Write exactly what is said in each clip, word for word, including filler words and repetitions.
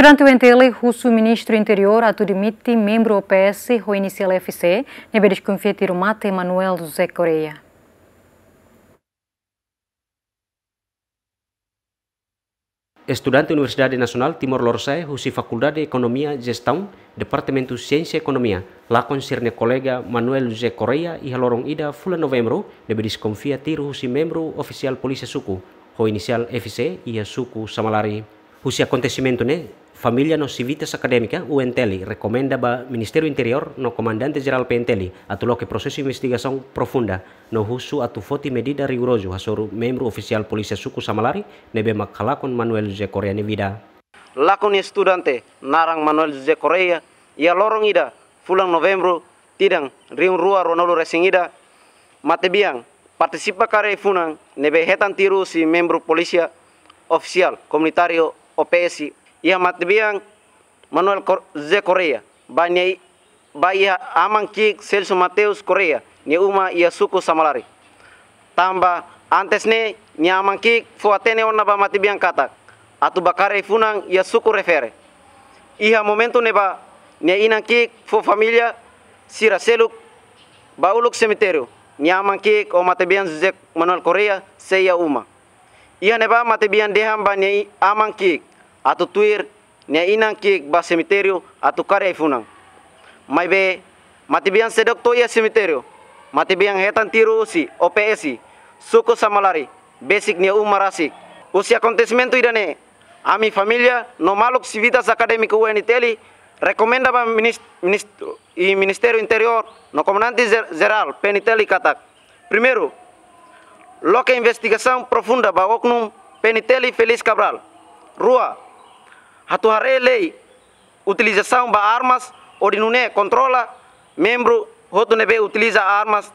Komandante U N T L husu Ministru Interiór atu demite membru O P S ho inisiál F C, ne'ebé deskonfia tiru mate Manuel José Correia. Estudante Universidade Nasionál Timor Lorosa'e husi Fakuldade Ekonomia Jestaun, Departamentu Siénsia Ekonomia, lakon sira-nia kolega Manuel José Correia iha loron ida fulan Novembru, ne'ebé deskonfia tiru husi membru ofisiál polísia suku, ho inisiál F C, iha suku Samalari. Husi akontesimentu ne'e, família no sivitas akadémika U N T L rekomenda ba Ministériu Interiór no Komandante Jerál P N T L atu loke prosesu investigasaun profunda no husu atu foti medida rigorozu hasoru membru ofisiál polísia suku Samalari ne'ebé mak halakon Manuel José Correia nia vida. Lakon nia estudante naran Manuel José Correia iha loron ida fulan Novembru tinan rihun rua ruanulu resin ida, matebian partisipa kaer ai-funan ne'ebé hetan tiru husi membru polísia ofisiál komunitáriu O P S. Iha matebian Manuel Cor-, José Correia ba nia i-, ba iha aman ki'ik Celso Mateus Correia nia uma iha suku Samalari. Tanba antes ne'e nia aman ki'ik fó hatene ona ba matebian katak atu ba kaer ai-funan iha suku refere. Iha momentu ne'ebá nia inan ki'ik fó família sira seluk ba uluk semitériu, nia aman ki'ik ho matebian José Manuel Correia sei iha uma. Iha ne'ebá matebian dehan ba nia i-, aman ki'ik atu tuir nia inan ki'ik ba semitériu atu kaer ai-funan. Maibé matebian seidauk to'o iha semitériu, matebian hetan tiru husi O P S suku Samalari besik nia uma rasik. Husi akontesimentu ida-ne'e, ami família no maluk sivitas akadémiku U N T L rekomenda ba minis-, ministru, i Ministériu Interiór no Komandante Jer-, Jerál P N T L katak: primeiru, loke investigasaun profunda ba oknum P N T L Feliz Cabral. Rua, atu haree lei utilizasaun ba armas hodi nune'e kontrola membru hotu ne'ebé utiliza armas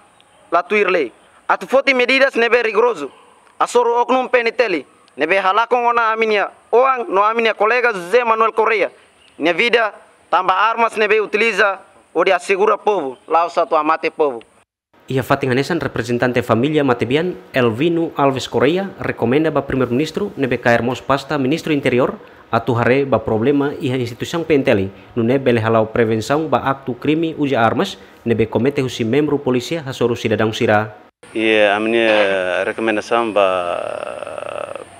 la tuir lei. Atu foti medidas ne'ebé rigorozu hasoru oknum P N T L ne'ebé halakon ona ami-nia oan no ami-nia kolega José Manuel Correia nia vida, tanba armas ne'ebé utiliza hodi asegura povu, la'ós atu hamate povu. Iha fatin hanesan, reprezentante família matebian, Elvino Alves Correia, rekomenda ba Primeiru-Ministru ne'ebé kaer mós pasta Ministru Interiór atu haree ba problema iha instituisaun P N T L, nune'e bele hala'o prevensaun ba aktu krime uza armas ne'ebé komete husi membru polísia hasoru sidadaun sira. I ami-nia rekomendasaun ba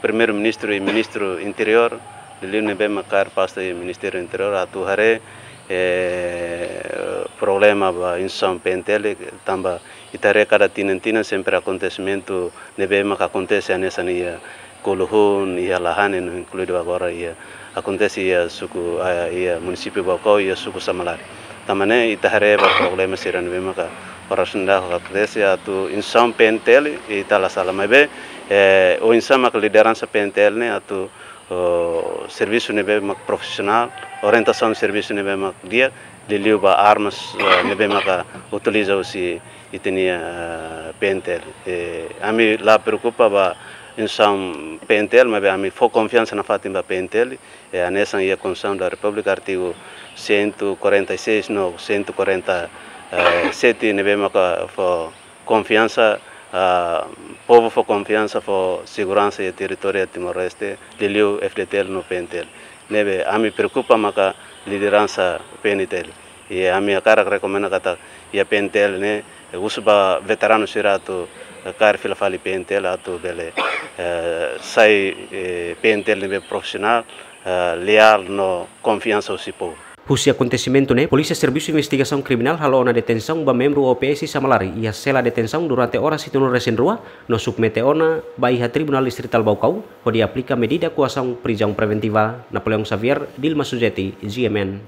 Primeiru-Ministru i Ministru Interiór, liuliu ne'ebé mak kaer pasta iha Ministériu Interiór, atu haree, eh, problema ba instituisaun P N T L, tanba ita haree kada tinan-tinan sempre akontesimentu ne'ebé mak akontese hanesan iha Kuluhun, iha Lahane, no inkluidu agora iha, akontese iha suku, ah, iha munisípiu Baucau, iha suku Samalari. Tanba ne'e ita haree ba problema sira ne'ebé maka oras ne'e akontese atu instituisaun P N T L, ita la sala, maibé, eh, oinsá maka lideransa P N T L ne'e atu, oh, servisu ne'ebé mak profisionál, orientasaun servisu ne'ebé mak di'ak, liuliu ba armas, eh, ne'ebé maka utiliza husi ita-nia, eh, P N T L. Eh, ami la preokupa ba instituisaun P N T L, maibé ami fó konfiansa nafatin ba P N T L. Eh, hanesan iha Konstituisaun da Repúblika, artigu cento e quarenta e seis no cento e quarenta e sete, ne'ebé maka fó konfiansa, ah, povu fó konfiansa, fó seguransa iha territóriu Timor-Leste, liuliu F D T L no P N T L. Ne'ebé ami preokupa maka lideransa P N T L. I ami hakarak rekomenda katak iha P N T L ne'e, eh, husu ba veteranu sira atu, eh, kaer fila fali P N T L atu bele, eh, sai, eh, P N T L ne'ebé profisionál, eh, leál no konfiansa husi povu. Husi akontesimentu ne'e, Polísia Servisu Investigasaun Kriminál halo ona detensaun ba membru O P S Samalari iha sela detensaun durante oras hitunulu resin rua, no submete ona ba iha Tribunál Distritál Baucau, hodi aplika medida koasaun prizaun preventiva. Napoleão Xavier, Dilma Suzeti, G M N.